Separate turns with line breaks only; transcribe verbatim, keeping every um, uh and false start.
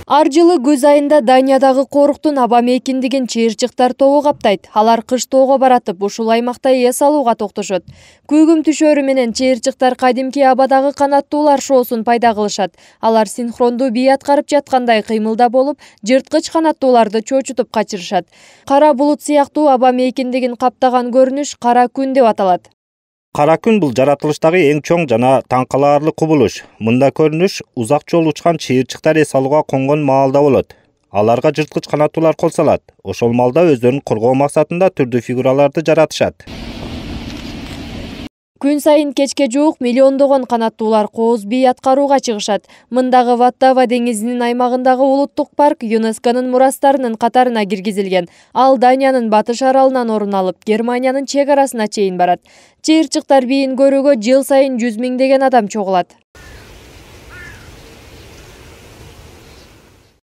Ар жылы күз айында Даниядагы коруктун аба мейкиндигин чыйырчыктар тобу каптайт. Алар кыш тоого баратып, ушул аймакта эс алууга токтошот. Күйгүм түшөрү менен чыйырчыктар кадимки абадагы канаттуулар шоусун пайда кылышат. Алар синхрондуу бий аткарып жаткандай кыймылда болуп, жырткыч канаттууларды чочутуп качырышат. Кара булут сыяктуу аба мейкиндигин каптаган көрүнүш кара күн деп аталат.
Кара күн бул жаратылыштагы эң чоң жана таң калаарлык кубулуш. Мында көрүнүш узак жол учкан чыйырчыктар эс алууга конгон маалда болот. Аларга жырткыч канаттуулар кол салат. Ошол маалда өздөрүн коргоо максатында түрдүү фигураларды жаратышат.
Күн сайын кечке жуук миллиондогон канаттуулар кооз бий аткарууга чыгышат. Мындагы Ваттава деңизинин аймагындагы улуттук парк ЮНЕСКОнун мурастарынын катарына киргизилген. Ал Даниянын батыш аралынан орун алып, Германиянын чек арасына чейин барат. Чыйырчыктар бийин көрүүгө жыл сайын жүз миңдеген адам чогулат.